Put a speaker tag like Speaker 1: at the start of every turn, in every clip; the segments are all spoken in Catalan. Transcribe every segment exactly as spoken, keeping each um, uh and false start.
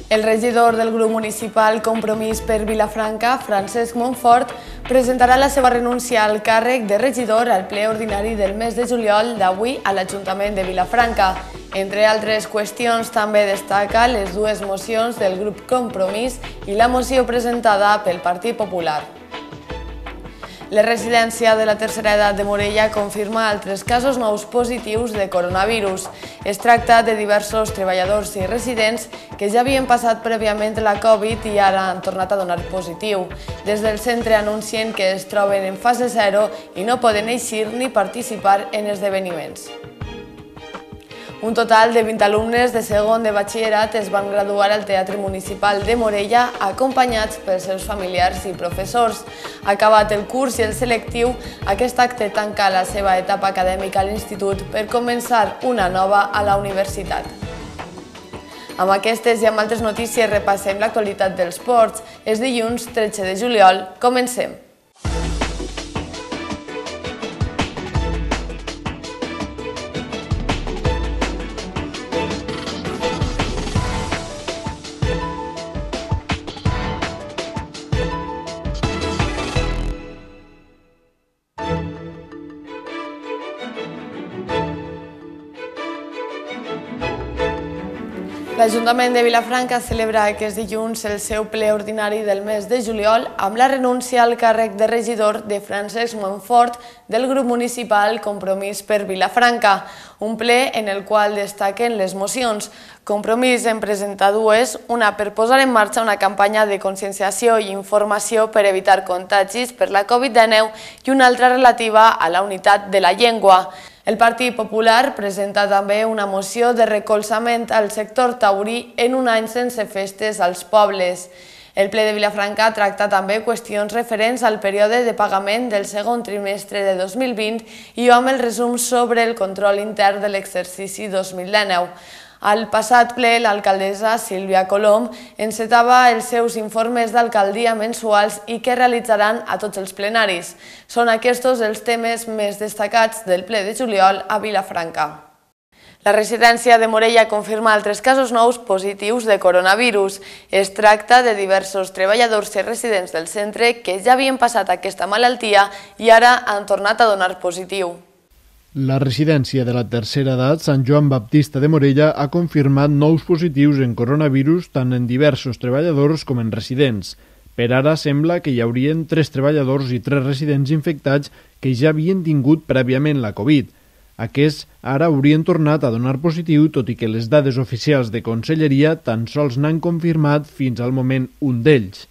Speaker 1: El regidor del grup municipal Compromís per Vilafranca, Francesc Montfort, presentarà la seva renúncia al càrrec de regidor al ple ordinari del mes de juliol d'avui a l'Ajuntament de Vilafranca. Entre altres qüestions, també destaca les dues mocions del grup Compromís i la moció presentada pel Partit Popular. La residència de la tercera edat de Morella confirma altres casos nous positius de coronavirus. Es tracta de diversos treballadors i residents que ja havien passat prèviament la Covid i ara han tornat a donar positiu. Des del centre anuncien que es troben en fase zero i no poden eixir ni participar en esdeveniments. Un total de vint alumnes de segon de batxillerat es van graduar al Teatre Municipal de Morella acompanyats pels seus familiars i professors. Acabat el curs i el selectiu, aquest acte tanca la seva etapa acadèmica a l'institut per començar una nova a la universitat. Amb aquestes i amb altres notícies repassem l'actualitat dels ports. És dilluns tretze de juliol. Comencem. L'Ajuntament de Vilafranca celebra aquest dilluns el seu ple ordinari del mes de juliol amb la renúncia al càrrec de regidor de Francesc Montfort del grup municipal Compromís per Vilafranca, un ple en el qual destaquen les mocions. Compromís en presenta dues, una per posar en marxa una campanya de conscienciació i informació per evitar contagis per la Covid dinou i una altra relativa a la unitat de la llengua. El Partit Popular presenta també una moció de recolzament al sector taurí en un any sense festes als pobles. El ple de Vilafranca tracta també qüestions referents al període de pagament del segon trimestre de dos mil vint i amb el resum sobre el control intern de l'exercici dos mil dinou. Al passat ple, l'alcaldessa Sílvia Colom encetava els seus informes d'alcaldia mensuals i que realitzaran a tots els plenaris. Són aquests els temes més destacats del ple de juliol a Vilafranca. La residència de Morella confirma altres casos nous positius de coronavirus. Es tracta de diversos treballadors i residents del centre que ja havien passat aquesta malaltia i ara han tornat a donar positiu.
Speaker 2: La residència de la tercera edat Sant Joan Baptista de Morella ha confirmat nous positius en coronavirus tant en diversos treballadors com en residents. Per ara sembla que hi haurien tres treballadors i tres residents infectats que ja havien tingut prèviament la Covid. Aquests ara haurien tornat a donar positiu, tot i que les dades oficials de Conselleria tan sols n'han confirmat fins al moment un d'ells.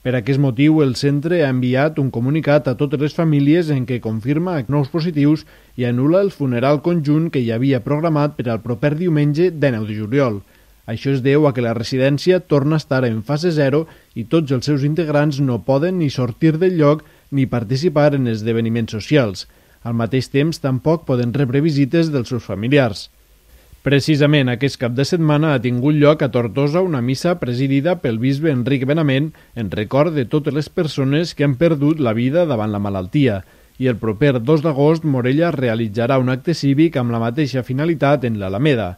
Speaker 2: Per aquest motiu, el centre ha enviat un comunicat a totes les famílies en què confirma nous positius i anul·la el funeral conjunt que hi havia programat per al proper diumenge dinou de juliol. Això es deu a que la residència torna a estar en fase zero i tots els seus integrants no poden ni sortir del lloc ni participar en esdeveniments socials. Al mateix temps, tampoc poden rebre visites dels seus familiars. Precisament aquest cap de setmana ha tingut lloc a Tortosa una missa presidida pel bisbe Enric Benament en record de totes les persones que han perdut la vida davant la malaltia. I el proper dos d'agost Morella realitzarà un acte cívic amb la mateixa finalitat en l'Alameda.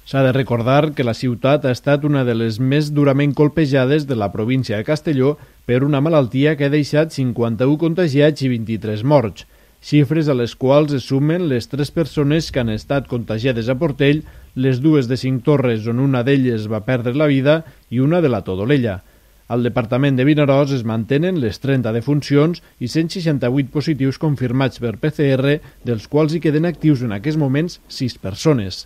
Speaker 2: S'ha de recordar que la ciutat ha estat una de les més durament colpejades de la província de Castelló per una malaltia que ha deixat cinquanta-u contagiats i vint-i-tres morts. Xifres a les quals es sumen les tres persones que han estat contagiades a Portell, les dues de Cinctorres on una d'elles va perdre la vida i una de la Todolella. Al departament de Vinaròs es mantenen les trenta defuncions i cent seixanta-vuit positius confirmats per P C R, dels quals hi queden actius en aquests moments sis persones.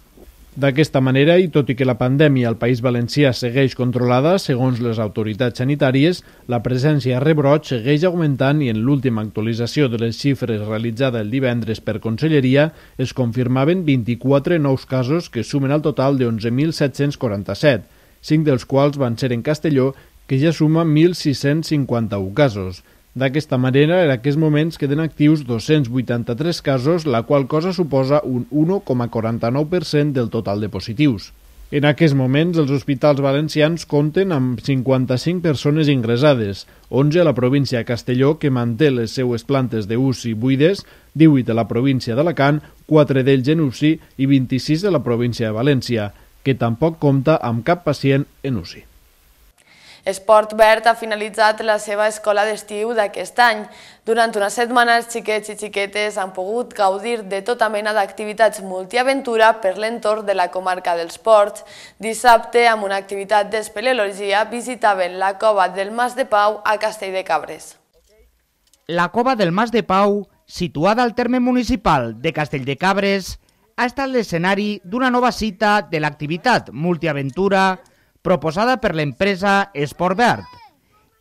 Speaker 2: D'aquesta manera, i tot i que la pandèmia al País Valencià segueix controlada, segons les autoritats sanitàries, la presència a rebrot segueix augmentant i en l'última actualització de les xifres realitzada el divendres per Conselleria es confirmaven vint-i-quatre nous casos que sumen al total de onze mil set-cents quaranta-set, cinc dels quals van ser en Castelló, que ja suma mil sis-cents cinquanta-u casos. D'aquesta manera, en aquests moments queden actius dos-cents vuitanta-tres casos, la qual cosa suposa un un coma quaranta-nou per cent del total de positius. En aquests moments, els hospitals valencians compten amb cinquanta-cinc persones ingressades, onze a la província de Castelló, que manté les seues plantes d'U C I buides, divuit a la província d'Alacant, quatre d'ells en U C I i vint-i-sis a la província de València, que tampoc compta amb cap pacient en U C I.
Speaker 1: Esport Verd ha finalitzat la seva escola d'estiu d'aquest any. Durant una setmana els xiquets i xiquetes han pogut gaudir de tota mena d'activitats multiaventura per l'entorn de la comarca dels Ports. Dissabte, amb una activitat d'espeleologia, visitaven la cova del Mas de Pau a Castell de Cabres.
Speaker 3: La cova del Mas de Pau, situada al terme municipal de Castell de Cabres, ha estat l'escenari d'una nova cita de l'activitat multiaventura proposada per l'empresa Esport Verd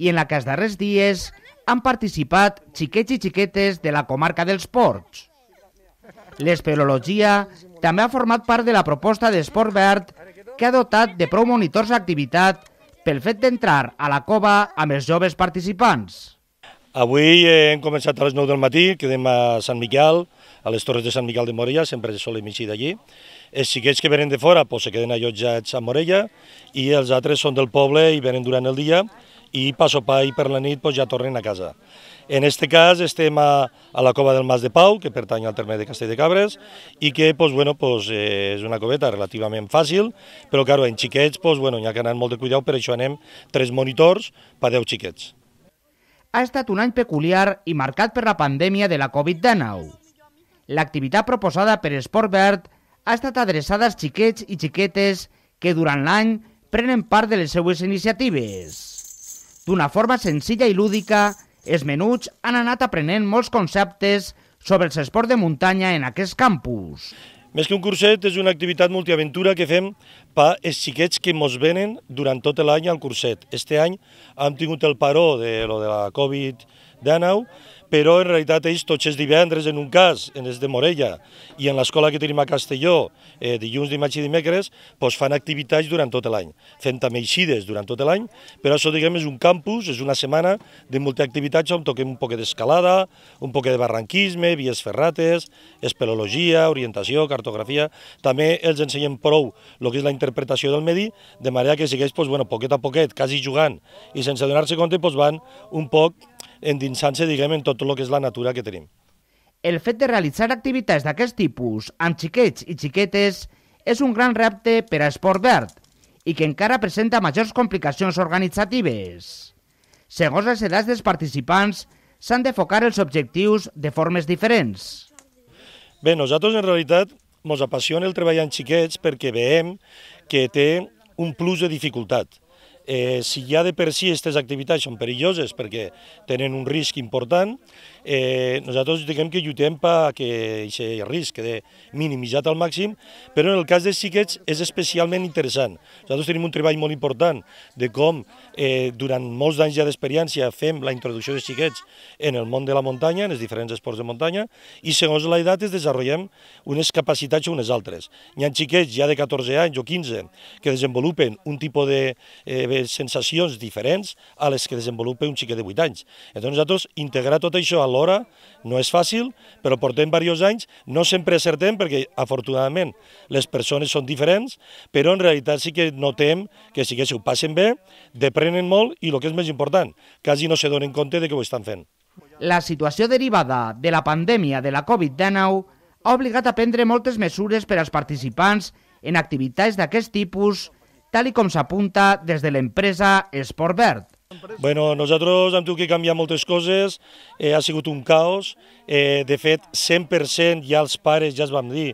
Speaker 3: i en la que els darrers dies han participat xiquets i xiquetes de la comarca dels Ports. L'espeleologia també ha format part de la proposta d'Esport Verd que ha dotat de prou monitors d'activitat pel fet d'entrar a la cova amb els joves participants.
Speaker 4: Avui hem començat a les nou del matí, quedem a Sant Miquel, a les Torres de Sant Miquel de Morella, sempre solem eixir d'allí. Els xiquets que venen de fora pues, se queden allotjats a Morella i els altres són del poble i venen durant el dia i pa sopar i per la nit pues, ja tornen a casa. En aquest cas estem a, a la cova del Mas de Pau, que pertany al terme de Castell de Cabres, i que pues, bueno, pues, eh, és una coveta relativament fàcil, però claro, en xiquets pues, bueno, hi ha que anar molt de cuidado, per això anem tres monitors per deu xiquets.
Speaker 3: Ha estat un any peculiar i marcat per la pandèmia de la Covid dinou. L'activitat proposada per Esport Verd ha estat adreçada als xiquets i xiquetes que durant l'any prenen part de les seues iniciatives. D'una forma senzilla i lúdica, els menuts han anat aprenent molts conceptes sobre els esports de muntanya en aquest campus.
Speaker 4: Més que un curset, és una activitat multiaventura que fem per als xiquets que ens venen durant tot l'any al curset. Este any hem tingut el paró de, lo de la Covid dinou, però en realitat ells tots els divendres, en un cas, en els de Morella, i en l'escola que tenim a Castelló, eh, dilluns, dimarts i dimecres, pues fan activitats durant tot l'any. Fem també eixides durant tot l'any, però això diguem és un campus, és una setmana de multiactivitats on toquem un poc d'escalada, un poc de barranquisme, vies ferrates, espeleologia, orientació, cartografia. També els ensenyem prou el que és la interpretació del medi, de manera que sigueix, pues, bueno, poquet a poquet, quasi jugant, i sense donar-se compte, pues, van un poc endinsant-se, diguem, en tot el que és la natura que tenim.
Speaker 3: El fet de realitzar activitats d'aquest tipus amb xiquets i xiquetes és un gran repte per a Esport Verd i que encara presenta majors complicacions organitzatives. Segons les edats dels participants, s'han d'enfocar els objectius de formes diferents.
Speaker 4: Bé, nosaltres en realitat ens apassiona el treball amb xiquets perquè veiem que té un plus de dificultat. Eh, si ja de per si aquestes activitats són perilloses perquè tenen un risc important, eh, nosaltres diguem que lluitem perquè aquest risc quede minimitzat al màxim, però en el cas dels xiquets és especialment interessant. Nosaltres tenim un treball molt important de com eh, durant molts anys ja d'experiència fem la introducció dels xiquets en el món de la muntanya, en els diferents esports de muntanya, i segons l'edat es desenvolupem unes capacitats o unes altres. Hi ha xiquets ja de catorze anys o quinze que desenvolupen un tipus de eh, sensacions diferents a les que desenvolupa un xiquet de vuit anys. Llavors nosaltres integrar tot això alhora no és fàcil, però portem diversos anys, no sempre acertem perquè afortunadament les persones són diferents, però en realitat sí que notem que sí que s'ho passen bé, deprenen molt i el que és més important, quasi no se donen compte de que ho estan fent.
Speaker 3: La situació derivada de la pandèmia de la Covid dinou ha obligat a prendre moltes mesures per als participants en activitats d'aquest tipus, tal com s'apunta des de l'empresa Esport Verd.
Speaker 4: Bueno, nosaltres hem tingut que canviar moltes coses, eh, ha sigut un caos, eh, de fet cent per cent ja els pares ja es vam dir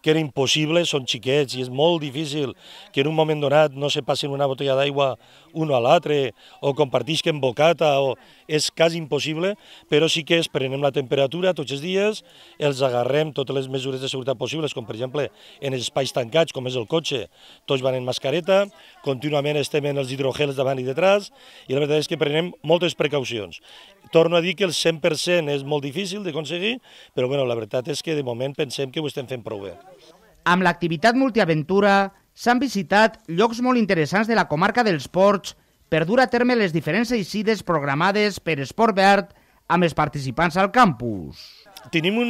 Speaker 4: que era impossible, són xiquets i és molt difícil que en un moment donat no se passin una botella d'aigua un a l'altre o compartisquen bocata, o és quasi impossible, però sí que es prenem la temperatura tots els dies, els agarrem totes les mesures de seguretat possibles, com per exemple en els espais tancats, com és el cotxe, tots van en mascareta, contínuament estem en els hidrogels davant i detrás, i la veritat és que prenem moltes precaucions. Torno a dir que el cent per cent és molt difícil d'aconseguir, però bueno, la veritat és que de moment pensem que ho estem fent prou bé.
Speaker 3: Amb l'activitat multiaventura s'han visitat llocs molt interessants de la comarca dels Ports per dur a terme les diferents eixides programades per Esport Verd amb els participants al campus.
Speaker 4: tenim un,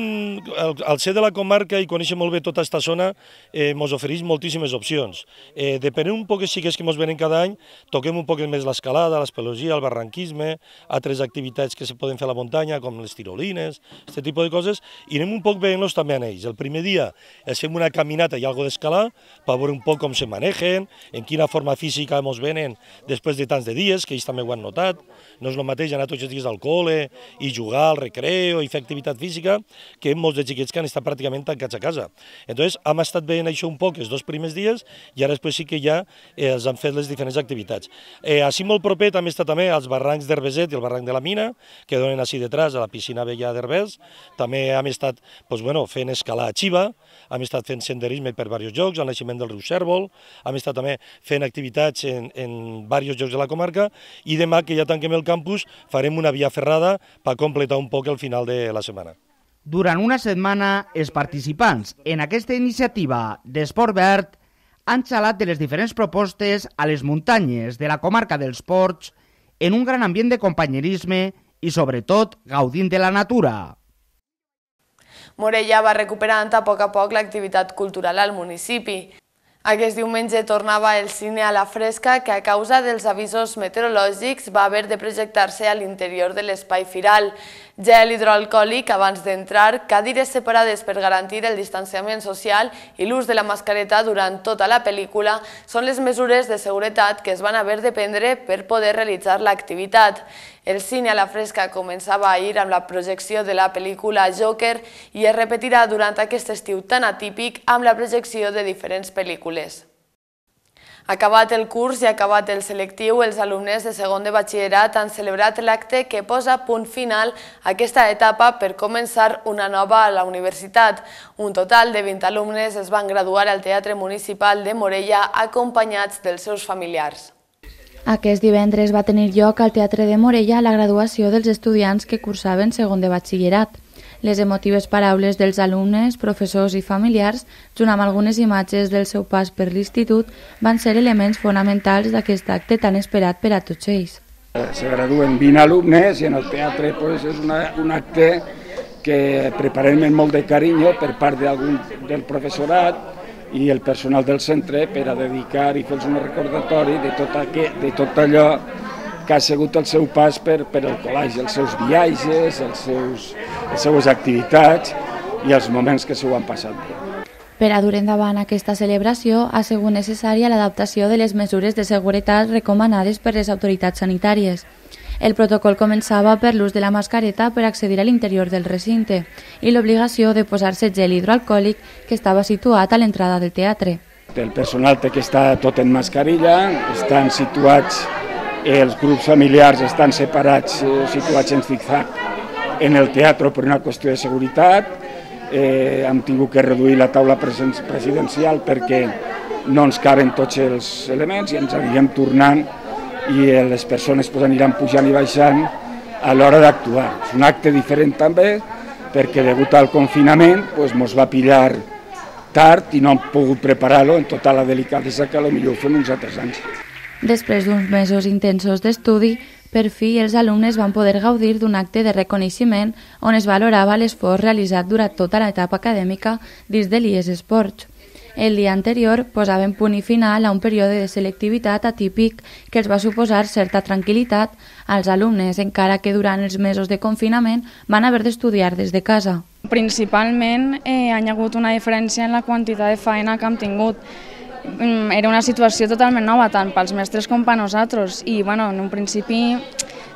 Speaker 4: al, al ser de la comarca i conèixer molt bé tota aquesta zona, eh, ens ofereix moltíssimes opcions. Eh, depenent un poc de xiquets que ens venen cada any, toquem un poc més l'escalada, l'espeleologia, el barranquisme, altres activitats que se poden fer a la muntanya, com les tirolines, aquest tipus de coses, i anem un poc veient-los també en ells. El primer dia els fem una caminata i algo d'escalar, per veure un poc com se manejen, en quina forma física ens venen després de tants de dies, que ells també ho han notat. No és el mateix anar tots els dies al col·le i jugar al recreo i fer activitat física, que molts de xiquets que han estat pràcticament tancats a casa. Entonces, hem estat veient això un poc els dos primers dies i ara després sí que ja eh, els han fet les diferents activitats. Eh, així molt proper també està també als barrancs d'Herbeset i el barranc de la Mina, que donen així detrás a la piscina vella d'Herbers. També hem estat pues, bueno, fent escalar a Xiva, hem estat fent senderisme per diversos llocs, al naixement del riu Cérvol, hem estat també fent activitats en, en diversos llocs de la comarca i demà, que ja tanquem el campus, farem una via ferrada per completar un poc el final de la setmana.
Speaker 3: Durant una setmana, els participants en aquesta iniciativa d'Esport Verd han xalat de les diferents propostes a les muntanyes de la comarca dels Ports en un gran ambient de companyerisme i, sobretot, gaudint de la natura.
Speaker 1: Morella va recuperant a poc a poc l'activitat cultural al municipi. Aquest diumenge tornava el cine a la fresca, que a causa dels avisos meteorològics va haver de projectar-se a l'interior de l'espai firal. Gel hidroalcohòlic abans d'entrar, cadires separades per garantir el distanciament social i l'ús de la mascareta durant tota la pel·lícula són les mesures de seguretat que es van haver de prendre per poder realitzar l'activitat. El cine a la fresca començava ahir amb la projecció de la pel·lícula Joker i es repetirà durant aquest estiu tan atípic amb la projecció de diferents pel·lícules. Acabat el curs i acabat el selectiu, els alumnes de segon de batxillerat han celebrat l'acte que posa punt final a aquesta etapa per començar una nova a la universitat. Un total de vint alumnes es van graduar al Teatre Municipal de Morella acompanyats dels seus familiars.
Speaker 5: Aquest divendres va tenir lloc al Teatre de Morella la graduació dels estudiants que cursaven segon de batxillerat. Les emotives paraules dels alumnes, professors i familiars, junt amb algunes imatges del seu pas per l'institut, van ser elements fonamentals d'aquest acte tan esperat per a tots ells.
Speaker 6: Se graduen vint alumnes i en el teatre pues, és una, un acte que preparem amb molt de carinyo per part del professorat i el personal del centre per a dedicar i fer-los un recordatori de tot, aquest, de tot allò que ha sigut el seu pas per, per el col·legi, els seus viatges, els seus, les seues activitats i els moments que s'ho han passat bé.
Speaker 5: Per a dur endavant aquesta celebració ha sigut necessària l'adaptació de les mesures de seguretat recomanades per les autoritats sanitàries. El protocol començava per l'ús de la mascareta per accedir a l'interior del recinte i l'obligació de posar-se gel hidroalcohòlic que estava situat a l'entrada del teatre.
Speaker 6: El personal té que estar tot en mascarilla, estan situats, els grups familiars estan separats, situats en zig-zag en el teatre per una qüestió de seguretat. Eh, hem tingut que reduir la taula presidencial perquè no ens caben tots els elements i ens anirem tornant i les persones pues, aniran pujant i baixant a l'hora d'actuar. És un acte diferent també perquè degut al confinament pues, mos va pillar tard i no hem pogut preparar-lo en tota la delicadesa que potser ho fem uns altres anys.
Speaker 5: Després d'uns mesos intensos d'estudi, per fi els alumnes van poder gaudir d'un acte de reconeixement on es valorava l'esforç realitzat durant tota l'etapa acadèmica dins de l'I E S Esports. El dia anterior posaven punt i final a un període de selectivitat atípic que els va suposar certa tranquil·litat als alumnes, encara que durant els mesos de confinament van haver d'estudiar des de casa.
Speaker 7: Principalment eh, hi ha hagut una diferència en la quantitat de feina que hem tingut. Era una situació totalment nova, tant pels mestres com per nosaltres, i bueno, en un principi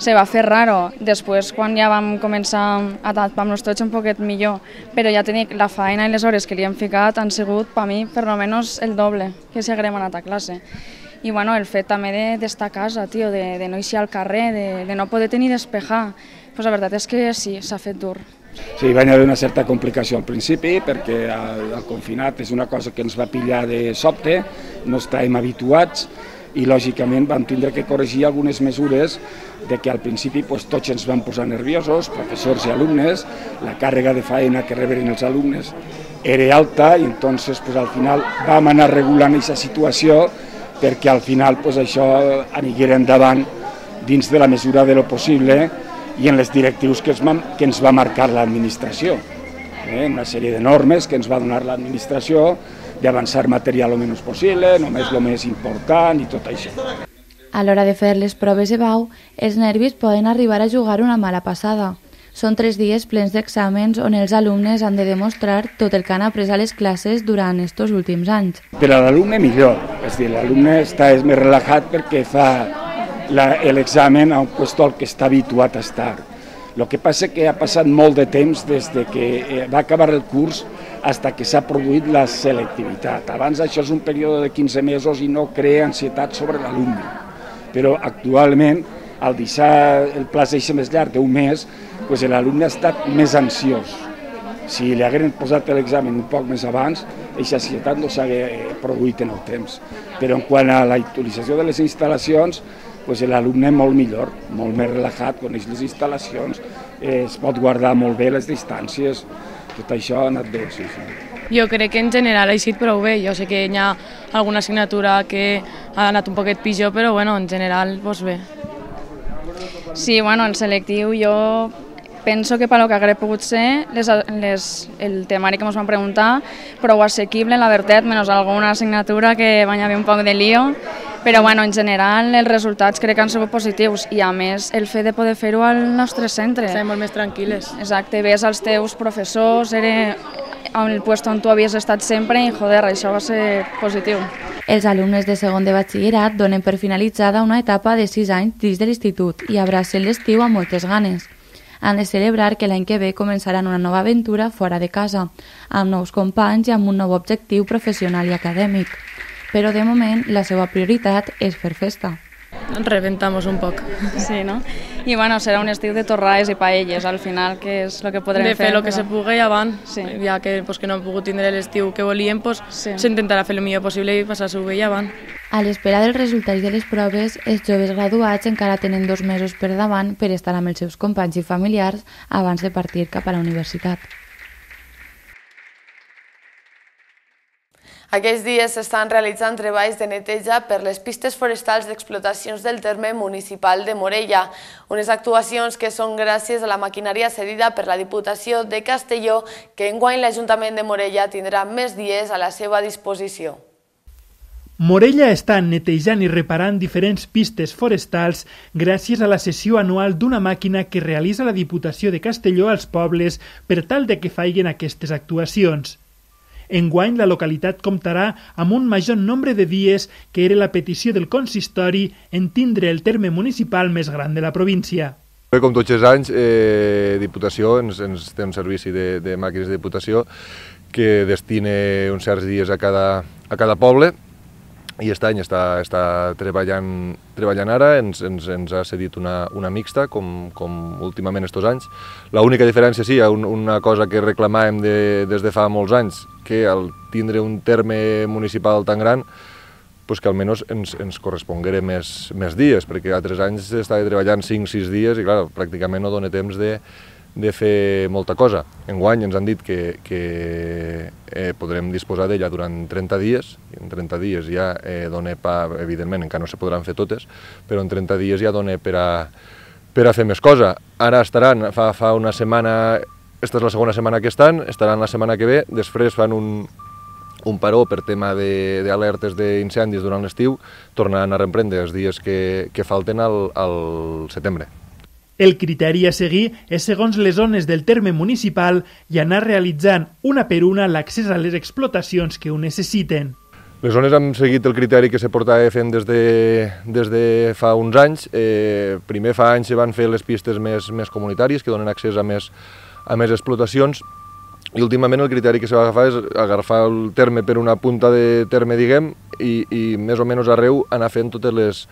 Speaker 7: se va fer raro. Després, quan ja vam començar a adaptar-nos tots un poquet millor, però ja tenia la feina i les hores que li hem ficat han sigut, per mi, per almenys el doble que si haguérem anat a classe. I bueno, el fet també d'estar a casa, tio, de, de no eixir al carrer, de, de no poder tenir despejar, pues la veritat és que sí, s'ha fet dur.
Speaker 6: Sí, va haver una certa complicació al principi perquè el, el confinat és una cosa que ens va pillar de sobte, no estàvem habituats i lògicament vam tindre que corregir algunes mesures de que al principi pues, tots ens vam posar nerviosos, professors i alumnes, la càrrega de feina que reberen els alumnes era alta i entonces pues, al final vam anar regulant aquesta situació perquè al final pues, això aniguera endavant dins de la mesura de lo possible i en les directius que, es, que ens va marcar l'administració. Eh? Una sèrie de normes que ens va donar l'administració d'avançar material el menys possible, només el més important i tot això.
Speaker 5: A l'hora de fer les proves de bau, els nervis poden arribar a jugar una mala passada. Són tres dies plens d'exàmens on els alumnes han de demostrar tot el que han après a les classes durant aquests últims anys.
Speaker 6: Per a l'alumne millor, és dir, l'alumne està més relaxat perquè fa l'examen a un lloc al que està habituat a estar. El que passa és que ha passat molt de temps des de que va acabar el curs fins que s'ha produït la selectivitat. Abans això és un període de quinze mesos i no crea ansietat sobre l'alumne. Però actualment, al deixar el plaç d'eixe més llarg d'un mes, doncs l'alumne ha estat més ansiós. Si li hagueren posat l'examen un poc més abans, aquesta ansietat no s'hagués produït en el temps. Però en quant a la utilització de les instal·lacions, doncs l'alumne molt millor, molt més relaxat, coneix les instal·lacions, eh, es pot guardar molt bé les distàncies, tot això ha anat bé. Sí, sí.
Speaker 8: Jo crec que en general ha eixit prou bé. Jo sé que hi ha alguna assignatura que ha anat un poquet pitjor, però bueno, en general doncs bé.
Speaker 7: Sí, bueno, el selectiu jo penso que pel que hauria pogut ser les, les, el temari que ens van preguntar, prou assequible, la veritat, menys alguna assignatura que va haver un poc de lío, però bueno, en general els resultats crec que han sigut positius i a més el fet de poder fer-ho al nostre centre.
Speaker 8: Estem molt més tranquil·les.
Speaker 7: Exacte, ves als teus professors, era en el lloc on tu havies estat sempre i joder, això va ser positiu.
Speaker 5: Els alumnes de segon de batxillerat donen per finalitzada una etapa de sis anys dins de l'institut i abracen l'estiu amb moltes ganes. Han de celebrar que l'any que ve començaran una nova aventura fora de casa, amb nous companys i amb un nou objectiu professional i acadèmic. Però de moment la seva prioritat és fer festa.
Speaker 8: Reventamos un poc.
Speaker 7: Sí, no? I bueno, serà un estiu de torrades i paelles, al final, que és el que podrem fer.
Speaker 8: De fer el que se pugui abans,
Speaker 7: sí.
Speaker 8: Ja que, pues, que no hem pogut tindre l'estiu que volíem, pues,
Speaker 7: sí.
Speaker 8: S'intentarà fer el millor possible i passar-s'ho bé abans.
Speaker 5: A l'espera dels resultats de les proves, els joves graduats encara tenen dos mesos per davant per estar amb els seus companys i familiars abans de partir cap a la universitat.
Speaker 1: Aquests dies s'estan realitzant treballs de neteja per les pistes forestals d'explotacions del terme municipal de Morella, unes actuacions que són gràcies a la maquinària cedida per la Diputació de Castelló, que enguany l'Ajuntament de Morella tindrà més dies a la seva disposició.
Speaker 9: Morella està netejant i reparant diferents pistes forestals gràcies a la cessió anual d'una màquina que realitza la Diputació de Castelló als pobles per tal de que faiguen aquestes actuacions. Enguany, la localitat comptarà amb un major nombre de dies que era la petició del consistori en tindre el terme municipal més gran de la província.
Speaker 10: Com tots els anys, eh, Diputació ens, ens té un servici de, de màquines de Diputació que destina uns certs dies a cada, a cada poble i aquest any està, està treballant, treballant ara, ens, ens, ens ha cedit una, una mixta, com, com últimament estos anys. L'única diferència, sí, un, una cosa que reclamàvem de, des de fa molts anys, que al tindre un terme municipal tan gran, pues que almenys ens, ens corresponguera més, més dies, perquè altres anys estava treballant cinc o sis dies i clar, pràcticament no dona temps de, de fer molta cosa. Enguany ens han dit que, que eh, podrem disposar d'ella durant trenta dies, i en trenta dies ja eh, dona pa, evidentment encara no se podran fer totes, però en trenta dies ja dona per a, per a fer més cosa. Ara estaran, fa, fa una setmana, aquesta és la segona setmana que estan, estaran la setmana que ve, després fan un, un paró per tema d'alertes d'incendis durant l'estiu, tornaran a reemprendre els dies que, que falten al, al setembre.
Speaker 9: El criteri a seguir és segons les zones del terme municipal i anar realitzant una per una l'accés a les explotacions que ho necessiten.
Speaker 10: Les zones han seguit el criteri que se portava fent des de, des de fa uns anys. Eh, primer fa anys se van fer les pistes més, més comunitàries que donen accés a més, a més explotacions i últimament el criteri que se va agafar és agafar el terme per una punta de terme, diguem, i, i més o menys arreu anar fent totes les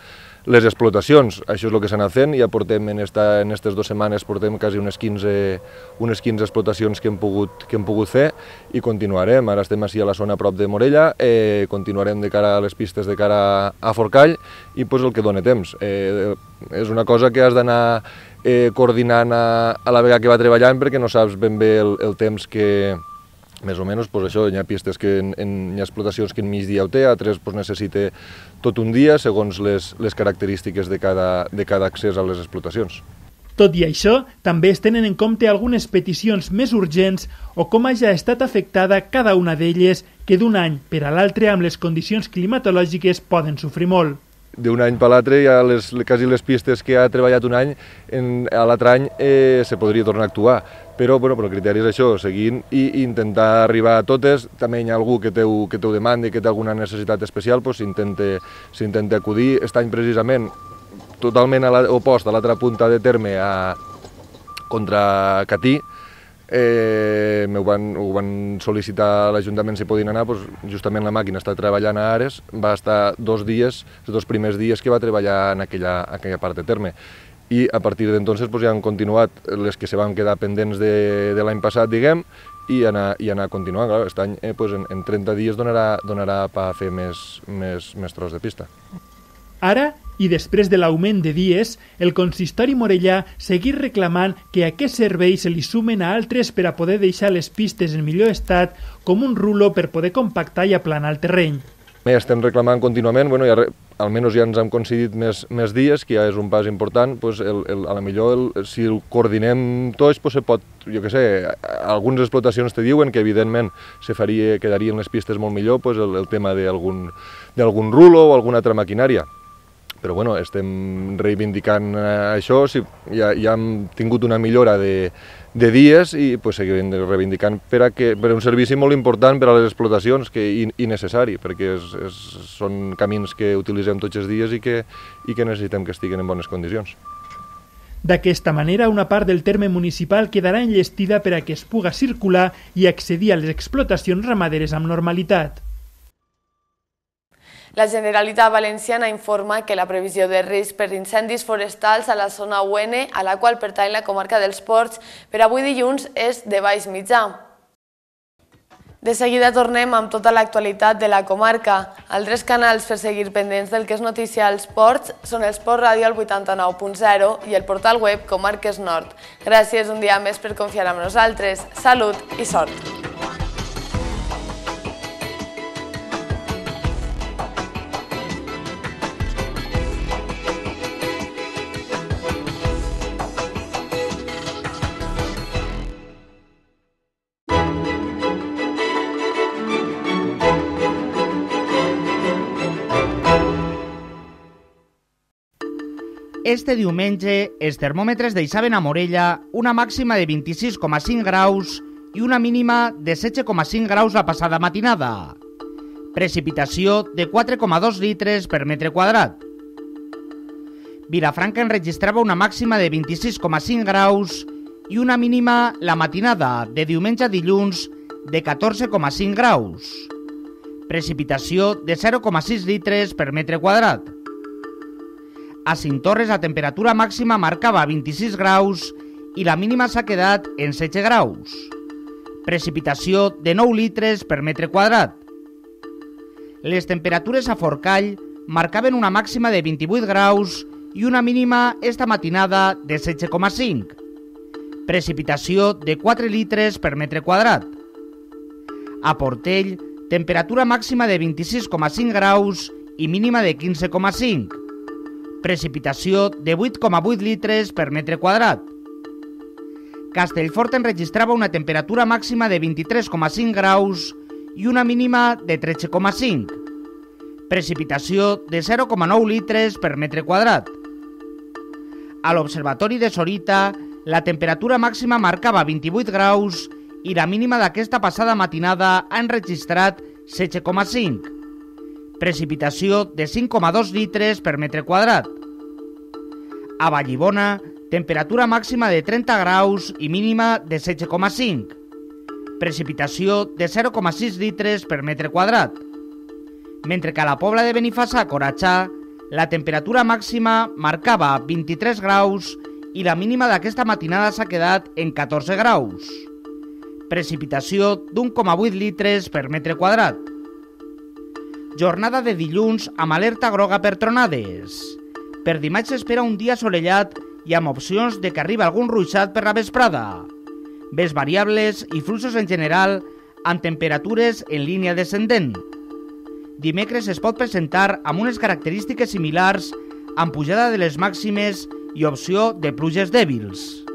Speaker 10: les explotacions. Això és el que s'ha anat fent, ja portem en esta, en aquestes dues setmanes portem quasi unes quinze, unes quinze explotacions que hem, pogut, que hem pogut fer i continuarem. Ara estem així a la zona prop de Morella, eh, continuarem de cara a les pistes de cara a Forcall i pues, el que dona temps. Eh, és una cosa que has d'anar eh, coordinant a, a la vegada que va treballant perquè no saps ben bé el, el temps que més o menys, pues això, hi ha pistes que en, en, hi ha explotacions que en mig dia ho té, altres pues, necessita tot un dia segons les, les característiques de cada, de cada accés a les explotacions.
Speaker 9: Tot i això, també es tenen en compte algunes peticions més urgents o com hagi estat afectada cada una d'elles que d'un any per a l'altre amb les condicions climatològiques poden sofrir molt.
Speaker 10: D'un any per l'altre, ja les, quasi les pistes que ha treballat un any, en, a l'altre any eh, se podria tornar a actuar. Però, bueno, però el criteri és això, seguint i intentar arribar a totes. També hi ha algú que teu, que teu demandi, que té alguna necessitat especial, doncs s'intenta acudir. Aquest any, precisament, totalment a opost a l'altra punta de terme, a, contra Catí, eh, ho, van, ho van sol·licitar a l'Ajuntament si podien anar, doncs justament la màquina està treballant a Ares, va estar dos dies, els dos primers dies que va treballar en aquella, aquella part de terme. I a partir d'entonces pues, ja han continuat les que se van quedar pendents de, de l'any passat, diguem, i anar, i anar continuant. Clar, aquest any eh, pues, en, en trenta dies donarà, donarà per fer més, més, més tros de pista.
Speaker 9: Ara, i després de l'augment de dies, el consistori morellà seguir reclamant que a aquest servei se li sumen a altres per a poder deixar les pistes en millor estat, com un rulo per poder compactar i aplanar el terreny.
Speaker 10: Bé, estem reclamant contínuament, bueno, ja, almenys ja ens hem concedit més, més dies, que ja és un pas important, pues el, el, a la millor el, si el coordinem tots, pues se pot, jo què sé, algunes explotacions te diuen que evidentment se faria, quedarien les pistes molt millor, pues el, el tema d'algun d'algun rulo o alguna altra maquinària. Però bueno, estem reivindicant això, si ja, ja hem tingut una millora de, de dies i pues, seguim reivindicant per a, que, per a un servici molt important per a les explotacions que, i, i necessari, perquè és, és, són camins que utilitzem tots els dies i que, i que necessitem que estiguin en bones condicions.
Speaker 9: D'aquesta manera, una part del terme municipal quedarà enllestida per a que es puga circular i accedir a les explotacions ramaderes amb normalitat.
Speaker 1: La Generalitat Valenciana informa que la previsió de risc per incendis forestals a la zona U N, a la qual pertany la comarca dels Ports, per avui dilluns és de baix mitjà. De seguida tornem amb tota l'actualitat de la comarca. Altres canals per seguir pendents del que és notícia als Ports són el Sport Ràdio al vuitanta-nou punt zero i el portal web Comarques Nord. Gràcies un dia més per confiar en nosaltres. Salut i sort!
Speaker 3: Este diumenge, els termòmetres deixaven a Morella una màxima de vint-i-sis coma cinc graus i una mínima de setze coma cinc graus la passada matinada. Precipitació de quatre coma dos litres per metre quadrat. Vilafranca enregistrava una màxima de vint-i-sis coma cinc graus i una mínima la matinada de diumenge a dilluns de catorze coma cinc graus. Precipitació de zero coma sis litres per metre quadrat. A Cinctorres la temperatura màxima marcava vint-i-sis graus i la mínima s'ha quedat en setze graus. Precipitació de nou litres per metre quadrat. Les temperatures a Forcall marcaven una màxima de vint-i-vuit graus i una mínima esta matinada de setze coma cinc. Precipitació de quatre litres per metre quadrat. A Portell, temperatura màxima de vint-i-sis coma cinc graus i mínima de quinze coma cinc. Precipitació de vuit coma vuit litres per metre quadrat. Castellfort enregistrava una temperatura màxima de vint-i-tres coma cinc graus i una mínima de tretze coma cinc. Precipitació de zero coma nou litres per metre quadrat. A l'Observatori de Sorita, la temperatura màxima marcava vint-i-vuit graus i la mínima d'aquesta passada matinada ha enregistrat setze coma cinc. Precipitació de cinc coma dos litres per metre quadrat. A Vallibona, temperatura màxima de trenta graus i mínima de setze coma cinc. Precipitació de zero coma sis litres per metre quadrat. Mentre que a la Pobla de Benifassà, Coratxà, la temperatura màxima marcava vint-i-tres graus i la mínima d'aquesta matinada s'ha quedat en catorze graus. Precipitació d'un coma vuit litres per metre quadrat. Jornada de dilluns amb alerta groga per tronades. Per dimarts s'espera un dia assolellat i amb opcions de que arribi algun ruixat per la vesprada. Vents variables i fluxos en general amb temperatures en línia descendent. Dimecres es pot presentar amb unes característiques similars amb pujada de les màximes i opció de pluges dèbils.